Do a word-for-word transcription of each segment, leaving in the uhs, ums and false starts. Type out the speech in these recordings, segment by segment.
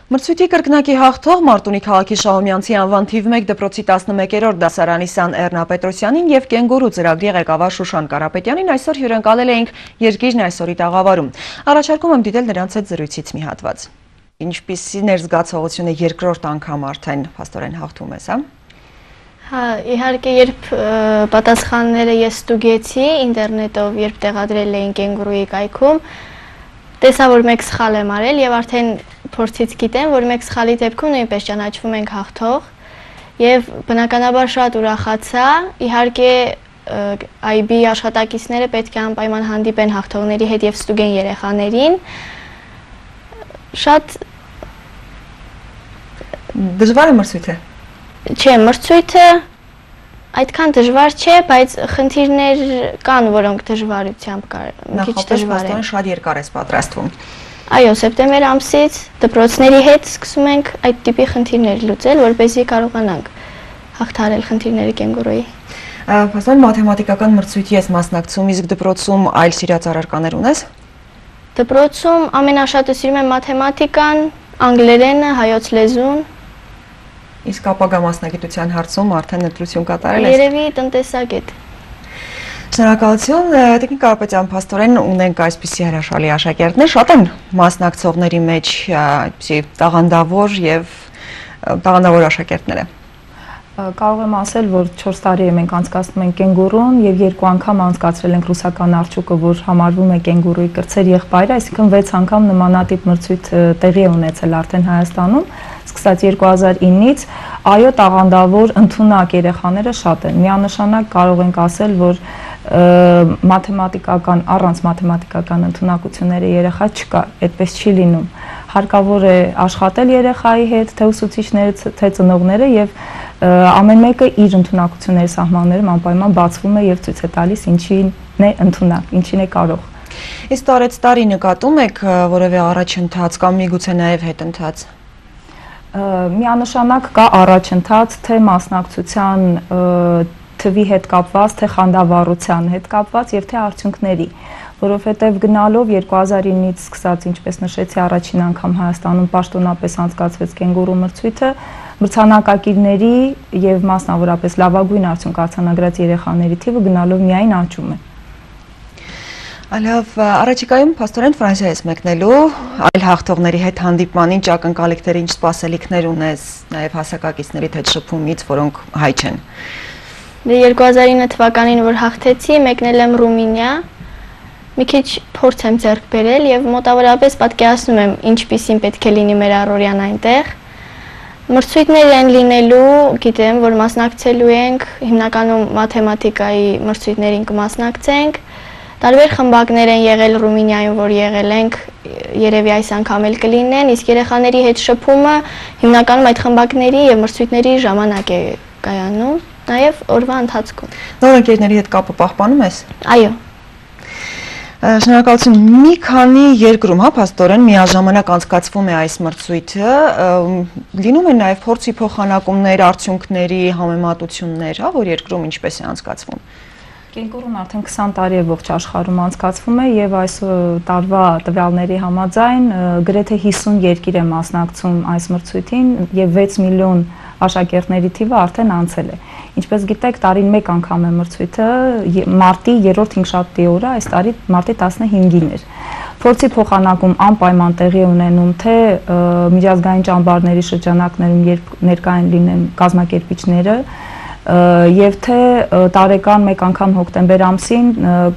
Մրցույթի կրկնակի հաղթող Մարտունի քաղաքի Շահումյանցի անվան թիվ մեկ դպրոցի տասնմեկերորդ դասարանի Սան Էռնա Պետրոսյանին և Կենգուրու ծրագրի ղեկավար Շուշան Կարապետյանին այսօր հյուրընկալել էինք Երկիրն այսօրի տաղավարում։ Առաջարկում եմ դիտել նրանց հետ զրույցից մի հատված։ Ինչպիսին էր զգացողությունը երկրորդ անգամ արդեն փաստորեն հաղթում ես, հա? Հա, իհարկե, երբ պատասխանները ես ստուգեցի ինտերնետով, երբ տեղադրել էին Կենգուրուի կայքում, տեսա, որ մեկ սխալ եմ արել եւ արդեն փորձից գիտեմ, որ մեկ սխալի դեպքում նույնպես ճանաչվում ենք հաղթող եւ բնականաբար շատ ուրախացա։ Իհարկե այ բի աշխատակիցները պետք է անպայման հանդիպեն հաղթողների հետ եւ ստուգեն երեխաներին։ Շատ դժվար է մրցույթը։ Չէ, մրցույթը այդքան դժվար չէ, բայց խնդիրներ կան, որոնք դժվարությամբ մի քիչ դժվար են։ Շատ երկար ես պատրաստվում։ Այո, սեպտեմբեր ամսից դպրոցների հետ սկսում ենք այդ տիպի խնդիրներ լուծել, որպեսզի կարողանանք հաղթահարել խնդիրները Կենգուրուի։ Փաստորեն մաթեմատիկական մրցույթի ես մասնակցում, իսկ դպրոցում այլ սիրած առարկաներ ունես։ Դպրոցում ամենաշատը սիրում եմ մաթեմատիկան, անգլերենը, հայոց լեզուն։ Իսկ ապագա մասնագիտության հարցում արդեն ընտրություն կատարել ես։ Երևի տնտեսագետ։ Շնորհակալություն, Տիկին Կարապետյան, փաստորեն ունենք այսպիսի հրաշալի աշակերտներ, շատ են մասնակցողների մեջ այդպիսի տաղանդավոր եւ տաղանդավոր աշակերտները։ Կարող եմ ասել, որ չորս տարի է մենք անցկացնում ենք Կենգուրուն եւ երկու անգամ անցկացրել ենք ռուսական արջուկը, որ համարվում է Կենգուրուի կրտսեր եղբայրը, այսինքն վեց անգամ նմանատիպ մրցույթ տեղի է ունեցել արդեն Հայաստանում, սկսած երկու հազար ինից, այո, տաղանդավոր ընդունակ երեխաները շատ են։ Միանշանակ կարող ենք ասել, որ մաթեմատիկական, առանց մաթեմատիկական ընդունակությունների երեխա չկա, այդպես չի լինում։ Հարկավոր է աշխատել երեխայի հետ, թե ուսուցիչները, թե ծնողները եւ ամեն մեկը իր ընդունակությունների սահմաններում անպայման բացվում է եւ ցույց է տալիս ինչին է ընդունակ, ինչին է կարող։ Իսկ տարեց տարի նկատում եք որևէ առաջընթաց կամ միգուցե նաեւ հետընթաց։ Միանշանակ կա առաջընթաց, թե մասնակցության թվի հետ կապված, թե խանդավառության հետ կապված եւ թե արդյունքների, որովհետեւ գնալով երկու հազար ինից սկսած, ինչպես նշեցի, առաջին անգամ Հայաստանում պաշտոնապես անցկացվեց Կենգուրու մրցույթը, մրցանակակիրների եւ մասնավորապես լավագույն արդյունք արձանագրած երեխաների թիվը գնալով միայն աճում է։ Լավ, առաջիկայում փաստորեն Ֆրանսիա ես մեկնելու, այլ հաղթողների հետ հանդիպման, ինչ ակնկալիքներ, ինչ սպասելիքներ ունես, նաեւ հասակակիցների հետ շփումից, որոնք հայ չեն։ երկու հազար ինը թվականին, որ հաղթեցի, մեկնել եմ Ռումինիա, մի քիչ փորձ եմ ձեռք բերել եւ մոտավորապես պատկերացնում եմ ինչպիսին պետք է լինի մեր առօրյան այնտեղ։ Մրցույթներ են լինելու, գիտեմ, որ մասնակցելու ենք, հիմնականում մաթեմատիկայի մրցույթներին կմասնակցենք։ Տարբեր խմբակներ են եղել Ռումինիայում, որ եղել ենք, երևի այս անգամ էլ կլինեն, իսկ երեխաների հետ շփումը հիմնականում այդ խմբակների եւ մրցույթների ժամանակ է կայանում, նաեւ օրվա ընթացքում։ Նոր ընկերների հետ կապը պահպանում ես։ Այո։ Շնորհակալություն, մի քանի երկրում, հա, փաստորեն միաժամանակ անցկացվում է այս մրցույթը, լինում են նաեւ փորձի փոխանակումներ, արդյունքների համեմատություններ, հա, որ երկրում ինչպես է անցկացվում։ Կենգուրուն արդեն քսան տարի է ողջ աշխարհում անցկացվում է եւ այս տարվա տվյալների համաձայն գրեթե հիսուն երկիր է մասնակցում այս մրցույթին եւ վեց միլիոն աշակերտների թիվը արդեն անցել է։ Ինչպես գիտեք, տարին մեկ անգամ է մրցույթը, մարտի երրորդ հինգշաբթի օրը, այս տարի մարտի տասնհինգին էր։ Փորձի փոխանակում անպայման տեղի ունենում թե միջազգային ճամբարների շրջանակներում, երբ ներկայ լինեն կազմակերպիչները, եւ թե տարեկան մեկ անգամ հոկտեմբեր ամսին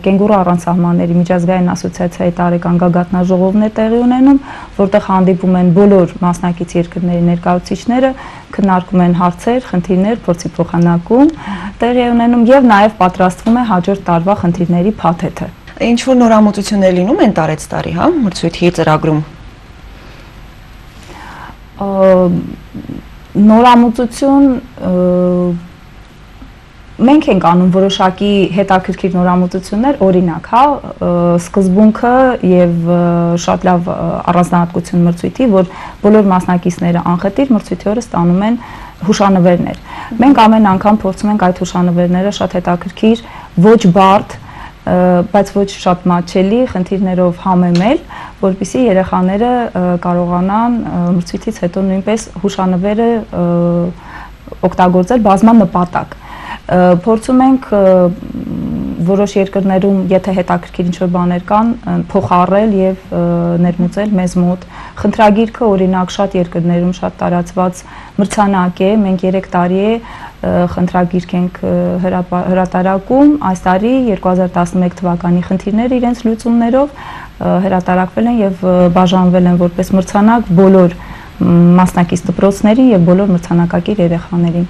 Կենգուրու առանց սահմանների միջազգային ասոցիացիայի տարեկան գագաթնաժողովն է տեղի ունենում, որտեղ հանդիպում են բոլոր մասնակից երկրների ներկայացուցիչները, քննարկում են հարցեր, խնդիրներ, փորձի փոխանակում տեղի է ունենում եւ նաեւ պատրաստվում է հաջորդ տարվա խնդիրների փաթեթը։ Ինչ որ նորամուծություններ լինում են տարեց տարի, հա, մրցույթի ծրագրում։ Նորամուծություն Մենք ենք անում որոշակի հետաքրքիր նորամուծություններ, օրինակ, հա, սկզբունքը եւ շատ լավ առանձնահատկություն մրցույթի, որ բոլոր մասնակիցները անխտիր մրցույթի օրը ստանում են հուշանվերներ։ Մենք ամեն անգամ փորձում ենք այդ հուշանվերները շատ հետաքրքիր, ոչ բարդ, բայց ոչ շատ մատչելի խնդիրներով համեմել, որպեսզի երեխաները կարողանան մրցույթից հետո նույնպես հուշանվերը օգտագործել բազմանպատակ։ Փորձում ենք որոշ երկրներում, եթե հետաքրքիր ինչ-որ բաներ կան, փոխառել եւ ներմուծել մեզ մոտ։ Խնդրագիրքը օրինակ շատ երկրներում շատ տարածված մրցանակ է, մենք երեք տարի է խնդրագիրք ենք հրատարակում, այս տարի երկու հազար տասնմեկ թվականի խնդիրները իրենց լուծումներով հրատարակվել են եւ բաժանվել են որպես մրցանակ բոլոր մասնակից դպրոցների եւ բոլոր մրցանակակիր երեխաներին։